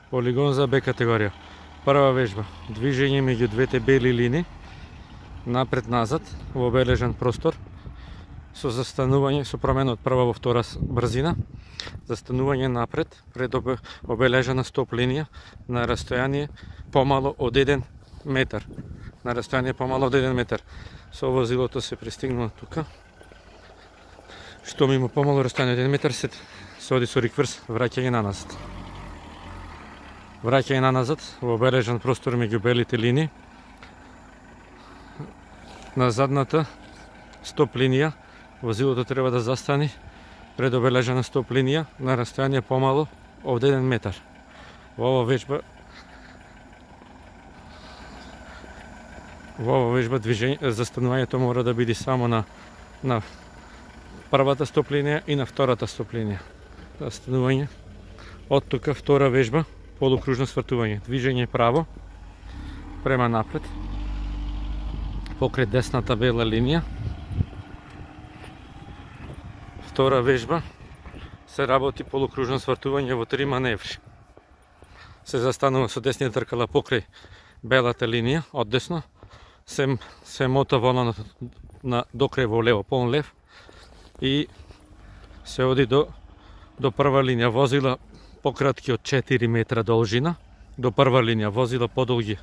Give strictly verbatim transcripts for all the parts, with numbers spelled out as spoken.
Полигон за Б категорија. Прва вежба, движење меѓу двете бели линии, напред-назад во обележен простор, со застанување, со промена од прва во втора брзина, застанување напред, пред обележена стоп линија, на растојание помало од еден метар. На растојание помало од еден метар. Со возилото се пристигнува тука. Што ми има помало растојание од еден метар, се, се оди со рикверс, враќање на назад. Враќање на назад во обележен простор меѓу белите линии. На задната стоп линија возилото треба да застани пред обележена стоп линија на растојание помало од еден метар. Во ова вежба Во ова вежба движење, застанувањето мора да биде само на на првата стоп линија и на втората стоп линија. Застанување. Од тука втора вежба, полукружно свртување. Движење право према напред покрај десната бела линија. Втора вежба се работи полукружно свртување во три маневри. Се застанува со десниот тркала покрај белата линија од десно, се се мота волана на докрај во лево, полн лев и се оди до до прва линија. Возила пократки од четири метра должина до прва линија, возила подолги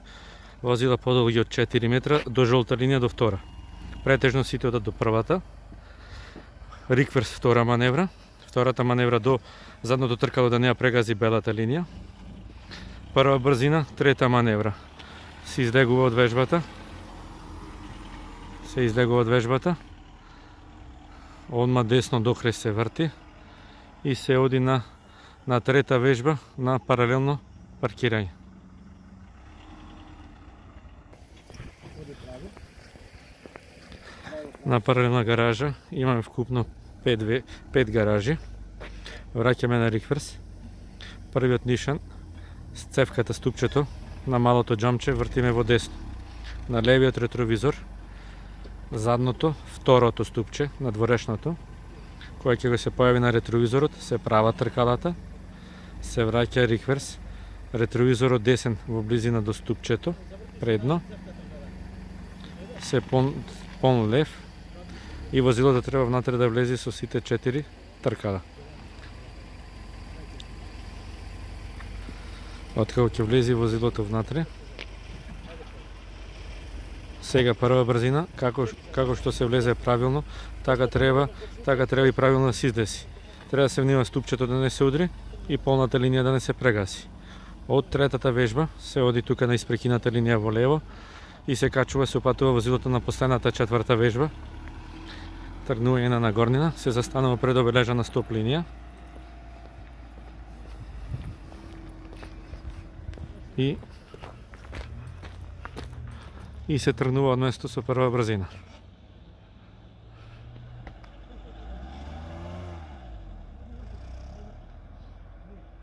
возила подолги од четири метра до жолта линија до втора. Претежно сите одат до првата. Рикверс втора маневра. Втората маневра до задното тркало да не ја прегази белата линија. Прва брзина, трета маневра. Се излегува од вежбата. Се излегува од вежбата. Одма десно докрај се врти и се оди на на трета вежба на паралелно паркирање. На паралелна гаража имаме вкупно пет, пет гаражи. Враќаме на рикверс. Првиот нишан, цевката ступчето на малото џамче вртиме во десно. На левиот ретровизор, задното, второто ступче, на дворешното, кој ќе го се појави на ретровизорот, се права тркалата, се враќа рикверс, ретровизорот десен во близина до ступчето, предно, се пон, пон лев и возилото треба внатре да влезе со сите четири тркала. Откако ќе влезе возилото внатре, сега прва брзина, како како што се влезе правилно, така треба, така треба и правилно да се издеси. Треба да се внимава ступчето да не се удри и полната линија да не се прегаси. Од третата вежба се оди тука на испрекината линија во лево и се качува, се опатува возилото на последната четврта вежба. Тргнување на нагорнина, се застанува пред обележана стоп линија. И и се тргнува од место со прва брзина.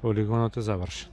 Полигонот е завршен.